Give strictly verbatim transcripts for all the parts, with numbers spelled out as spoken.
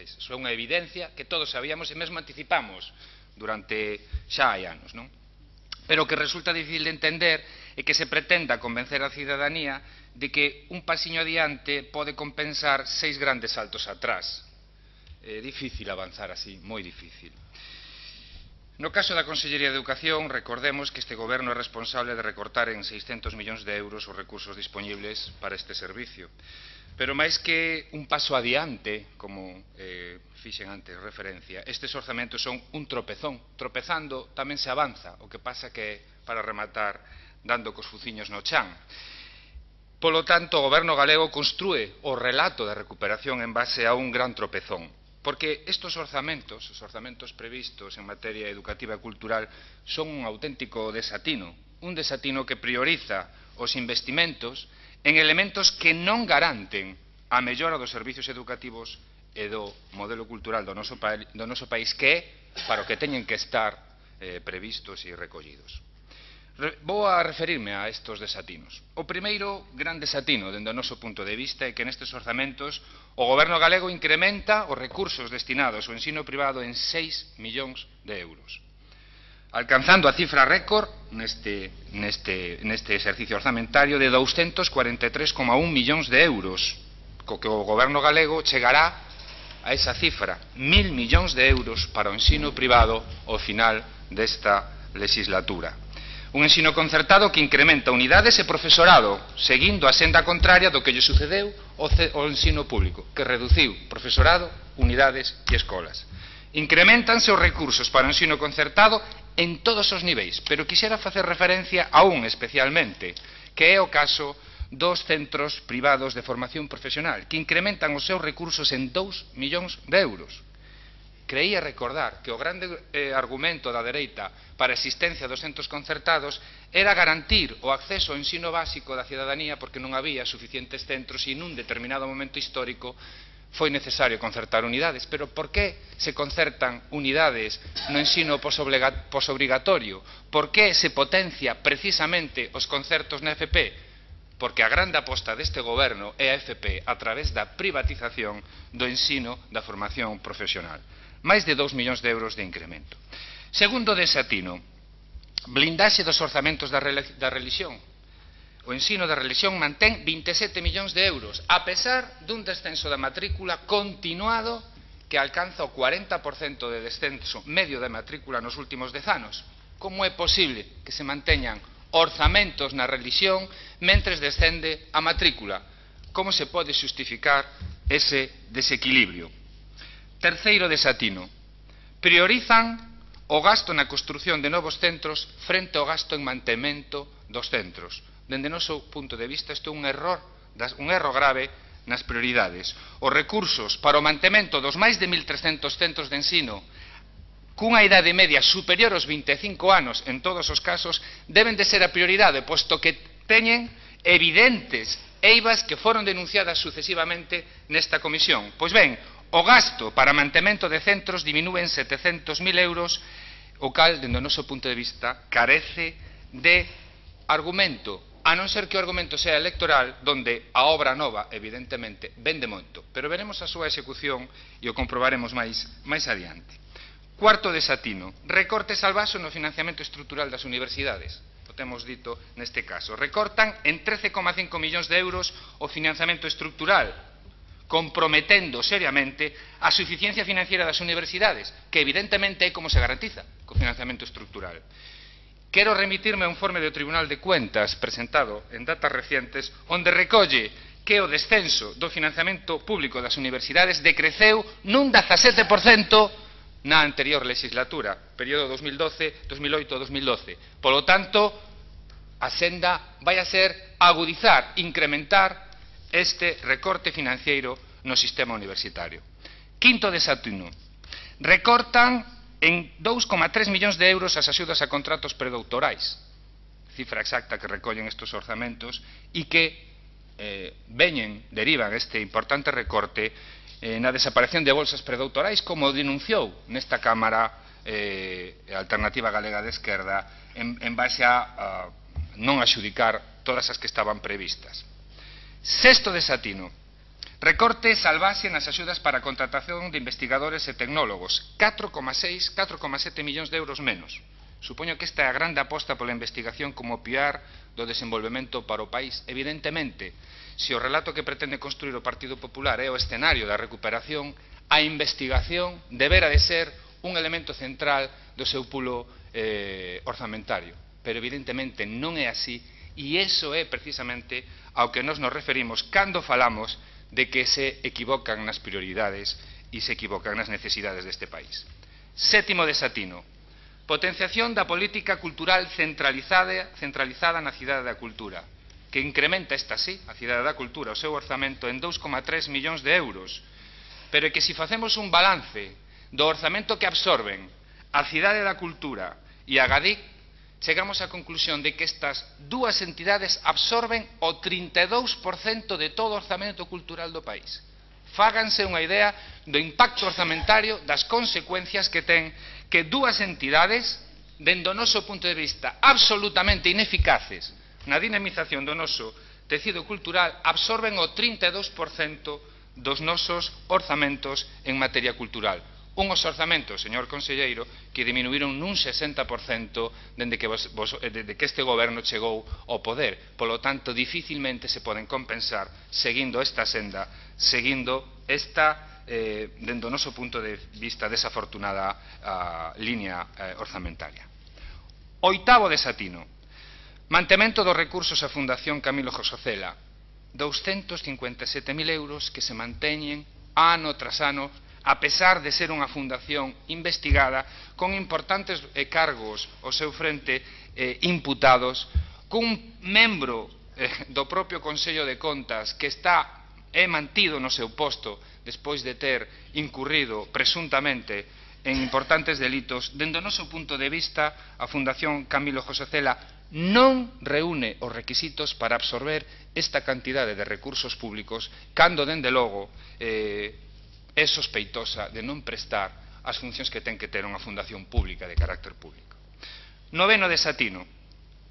Iso é unha evidencia que todos sabíamos e mesmo anticipamos durante xa hai anos, non? Pero o que resulta difícil de entender é que se pretenda convencer a cidadanía de que un pasiño adiante pode compensar seis grandes saltos atrás. É difícil avanzar así, moi difícil. No caso da Consellería de Educación, recordemos que este goberno é responsable de recortar en seiscentos millóns de euros os recursos disponibles para este servicio. Pero máis que un paso adiante, como eh, fixen antes referencia, estes orzamentos son un tropezón. Tropezando tamén se avanza, o que pasa que para rematar dando cos fuciños no chan. Polo tanto, o goberno galego construe o relato de recuperación en base a un gran tropezón. Porque estes orzamentos, os orzamentos previstos en materia educativa e cultural, son un auténtico desatino. Un desatino que prioriza os investimentos en elementos que non garanten a mellora dos servicios educativos e do modelo cultural do noso, pa do noso país, que é para o que teñen que estar eh, previstos e recollidos. Re vou a referirme a estes desatinos. O primeiro gran desatino, dende o noso punto de vista, é que nestes orzamentos o goberno galego incrementa os recursos destinados ao ensino privado en seis millóns de euros, alcanzando a cifra récord neste, neste, neste exercicio orzamentario de douscentos cuarenta e tres coma un millóns de euros, co que o goberno galego chegará a esa cifra, mil millóns de euros para o ensino privado ao final desta legislatura. Un ensino concertado que incrementa unidades e profesorado, seguindo a senda contraria do que lle sucedeu ao ensino público, que reduciu profesorado, unidades e escolas. Incrementanse os recursos para o ensino concertado en todos os niveis, pero quixera facer referencia a un especialmente, que é o caso dos centros privados de formación profesional, que incrementan os seus recursos en dous millóns de euros. Creía recordar que o grande eh, argumento da dereita para a existencia dos centros concertados era garantir o acceso ao ensino básico da cidadanía porque non había suficientes centros e nun determinado momento histórico foi necesario concertar unidades. Pero por que se concertan unidades no ensino posobrigatorio? Por que se potencia precisamente os concertos na F P? Porque a grande aposta deste goberno é a F P a través da privatización do ensino da formación profesional. Máis de dous millóns de euros de incremento. Segundo desatino, blindaxe dos orzamentos da religión. O ensino da religión mantén vinte e sete millóns de euros, a pesar dun descenso da matrícula continuado que alcanza o cuarenta por cento de descenso medio da matrícula nos últimos dez anos. Como é posible que se manteñan orzamentos na religión mentres descende a matrícula? Como se pode xustificar ese desequilibrio? Terceiro desatino, priorizan o gasto na construción de novos centros frente ao gasto en mantemento dos centros. Dende o noso punto de vista, isto é un error, un erro grave nas prioridades. Os recursos para o mantemento dos máis de mil trescentos centros de ensino cunha idade media superior aos vinte e cinco anos en todos os casos deben de ser a prioridade, posto que teñen evidentes eivas que foron denunciadas sucesivamente nesta comisión. Pois ben, o gasto para mantemento de centros diminúe en setecentos mil euros, o cal, dende o noso punto de vista, carece de argumento, a non ser que o argumento sea electoral, donde a obra nova, evidentemente, vende moito, pero veremos a súa execución e o comprobaremos máis, máis adiante. Cuarto desatino, recortes al vaso no financiamento estrutural das universidades. O temos dito neste caso. Recortan en trece coma cinco millóns de euros o financiamento estrutural, comprometendo seriamente a suficiencia financiera das universidades, que evidentemente é como se garantiza co financiamento estrutural. Quero remitirme a un informe do Tribunal de Cuentas presentado en datas recientes, onde recolle que o descenso do financiamento público das universidades decreceu nun dezasete por cento na anterior legislatura, período dos mil doce, dos mil oito, dos mil doce. Polo tanto, a senda vai a ser agudizar, incrementar este recorte financiero no sistema universitario. Quinto desatino, recortan en dous coma tres millóns de euros as axudas a contratos predoutorais, cifra exacta que recollen estes orzamentos e que eh, veñen, derivan este importante recorte eh, na desaparición de bolsas predoutorais, como denunciou nesta Cámara eh, Alternativa Galega de Esquerda en, en base a, a non axudicar todas as que estaban previstas. Sexto desatino, Recorte salvaxe nas axudas para a contratación de investigadores e tecnólogos, catro coma seis, catro coma sete millóns de euros menos. Supoño que esta é a grande aposta pola investigación como piar do desenvolvemento para o país. Evidentemente, se o relato que pretende construir o Partido Popular é o escenario da recuperación, a investigación debera de ser un elemento central do seu pulo eh, orzamentario. Pero evidentemente non é así, e iso é precisamente ao que nos nos referimos cando falamos de que se equivocan nas prioridades e se equivocan nas necesidades deste país. Sétimo desatino. Potenciación da política cultural centralizada, centralizada na Cidade da Cultura, que incrementa esta sí, a Cidade da Cultura, o seu orzamento en dous coma tres millóns de euros, pero é que se facemos un balance do orzamento que absorben a Cidade da Cultura e a Gadic, chegamos á conclusión de que estas dúas entidades absorben o trinta e dous por cento de todo o orzamento cultural do país. Fáganse unha idea do impacto orzamentario, das consecuencias que ten que dúas entidades, dende o noso punto de vista absolutamente ineficaces na dinamización do noso tecido cultural, absorben o trinta e dous por cento dos nosos orzamentos en materia cultural. Unhos orzamentos, señor conselleiro, que diminuíron nun sesenta por cento dende que, vos, vos, dende que este goberno chegou ao poder. Polo tanto, dificilmente se poden compensar seguindo esta senda, seguindo esta, eh, dende o noso punto de vista, desafortunada a, línea eh, orzamentaria. Oitavo desatino. Mantemento dos recursos á Fundación Camilo José Cela. douscentos cincuenta e sete mil euros que se manteñen ano tras ano, a pesar de ser unha fundación investigada con importantes eh, cargos ao seu frente eh, imputados, cun membro eh, do propio Consello de Contas que está é mantido no seu posto despois de ter incurrido presuntamente en importantes delitos. Dende o noso punto de vista, a Fundación Camilo José Cela non reúne os requisitos para absorber esta cantidade de recursos públicos cando, dende logo, eh, é sospeitosa de non prestar as funcións que ten que ter unha fundación pública de carácter público. Noveno desatino.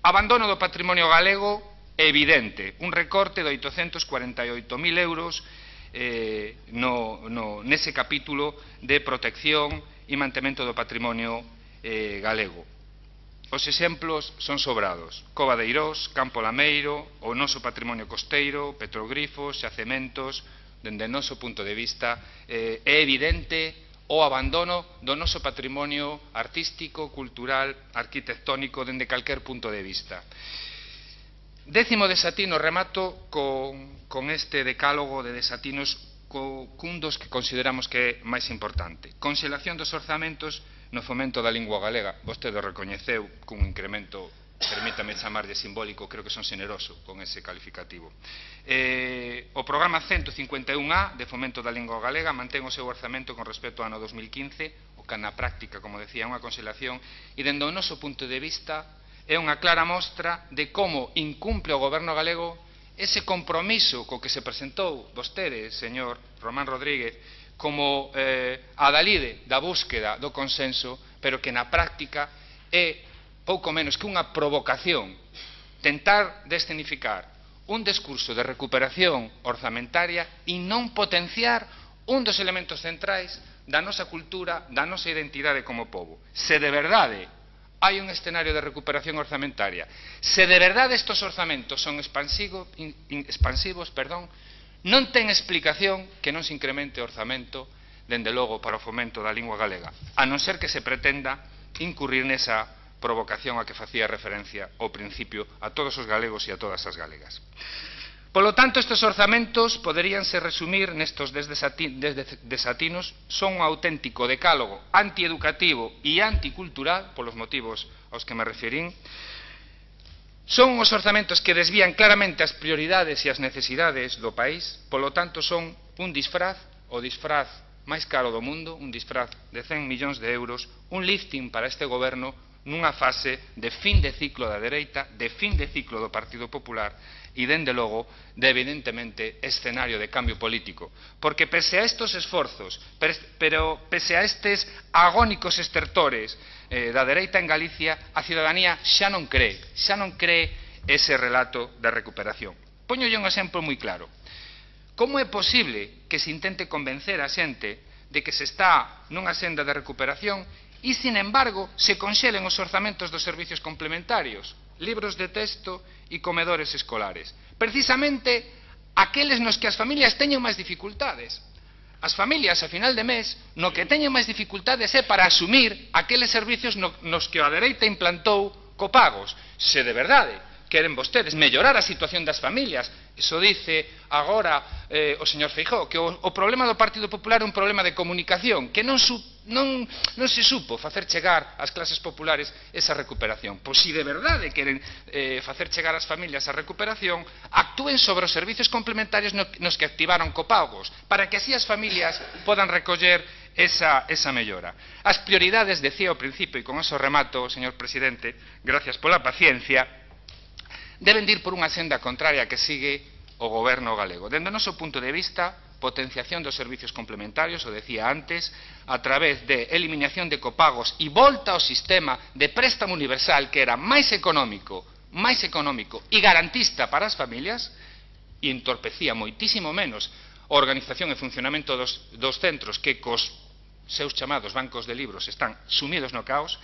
Abandono do patrimonio galego evidente. Un recorte de oitocentos cuarenta e oito mil euros eh, no, no, nese capítulo de protección e mantemento do patrimonio eh, galego. Os exemplos son sobrados. Cova de Eirós, Campo Lameiro, o noso patrimonio costeiro, petroglifos, xacementos. Dende o noso punto de vista, eh, é evidente o abandono do noso patrimonio artístico, cultural, arquitectónico, dende calquer punto de vista. Décimo desatino, remato con, con este decálogo de desatinos co, cun dos que consideramos que é máis importante. Conxelación dos orzamentos no fomento da lingua galega. Vostede recoñeceu cun incremento, permítame chamarlle simbólico, creo que son xeneroso con ese calificativo. Eh, o programa ciento cincuenta e un A de fomento da lingua galega mantén o seu orzamento con respecto ao ano dos mil quince, o que na práctica, como decía, é unha conxelación, e dende o noso punto de vista é unha clara mostra de como incumple o goberno galego ese compromiso co que se presentou vostede, señor Román Rodríguez, como eh, adalide da búsqueda do consenso, pero que na práctica é pouco menos que unha provocación tentar descenificar un discurso de recuperación orzamentaria e non potenciar un dos elementos centrais da nosa cultura, da nosa identidade como pobo. Se de verdade hai un escenario de recuperación orzamentaria, se de verdade estes orzamentos son expansivos, expansivos perdón, non ten explicación que non se incremente o orzamento, dende logo, para o fomento da lingua galega, a non ser que se pretenda incurrir nesa provocación a que facía referencia ao principio a todos os galegos e a todas as galegas. Polo tanto, estes orzamentos poderíanse resumir nestos desatinos, son un auténtico decálogo antieducativo e anticultural, polos motivos aos que me referín. Son os orzamentos que desvían claramente as prioridades e as necesidades do país, polo tanto son un disfraz, o disfraz máis caro do mundo, un disfraz de cen millóns de euros, un lifting para este goberno nunha fase de fin de ciclo da dereita, de fin de ciclo do Partido Popular e, dende logo, de evidentemente escenario de cambio político. Porque pese a estos esforzos, pero pese a estes agónicos estertores eh, da dereita en Galicia, a cidadanía xa non cree, xa non cree ese relato de recuperación. Póñolle un exemplo moi claro. como é posible que se intente convencer a xente de que se está nunha senda de recuperación e, sin embargo, se conxelen os orzamentos dos servicios complementarios, libros de texto e comedores escolares? Precisamente aqueles nos que as familias teñen máis dificultades. As familias, a final de mes, no que teñen máis dificultades é para asumir aqueles servicios nos que a dereita implantou copagos. Se de verdade queren vostedes mellorar a situación das familias, iso dice agora eh, o señor Feijóo, que o, o problema do Partido Popular é un problema de comunicación, que non, su, non, non se supo facer chegar ás clases populares esa recuperación. Pois se de verdade queren eh, facer chegar ás familias a recuperación, actúen sobre os servicios complementarios no, nos que activaron copagos, para que así as familias podan recoller esa, esa mellora. As prioridades, decía ao principio, e con eso remato, señor presidente, gracias pola paciencia, deben de ir por unha senda contraria que sigue o goberno galego. Dende o noso punto de vista, potenciación dos servicios complementarios, o decía antes, a través de eliminación de copagos e volta ao sistema de préstamo universal que era máis económico, máis económico e garantista para as familias, e entorpecía moitísimo menos a organización e funcionamento dos, dos centros que cos seus chamados bancos de libros están sumidos no caos.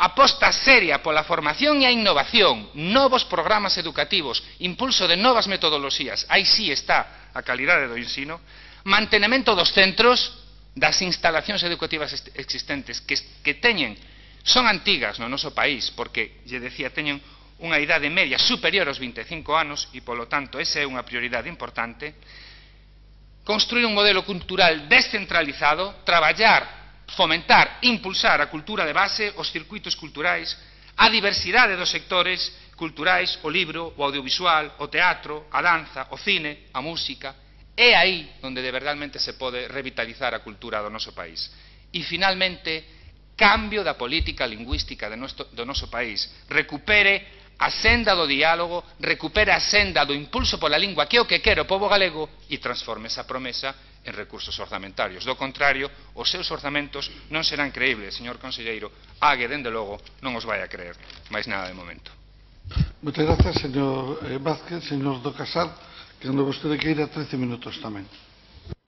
Aposta seria pola formación e a innovación, novos programas educativos, impulso de novas metodoloxías, aí sí está a calidade do ensino, mantenemento dos centros, das instalacións educativas existentes que, que teñen, son antigas no noso país, porque, lle decía, teñen unha idade media superior aos vinte e cinco anos e, polo tanto, esa é unha prioridade importante. Construir un modelo cultural descentralizado, traballar, fomentar, impulsar a cultura de base, os circuitos culturais, a diversidade dos sectores culturais, o libro, o audiovisual, o teatro, a danza, o cine, a música. É aí onde de verdade se pode revitalizar a cultura do noso país. E, finalmente, cambio da política lingüística do noso, do noso país. Recupere a senda do diálogo, recupere a senda do impulso pola lingua, que é o que quere o pobo galego, e transforme esa promesa en recursos orzamentarios. Do contrario, os seus orzamentos non serán creíbles, señor conselleiro. Ague, dende logo, non os vai a creer máis nada de momento. Moitas grazas, señor Vázquez. Señor do Casal, que non vostede que ir a trece minutos tamén.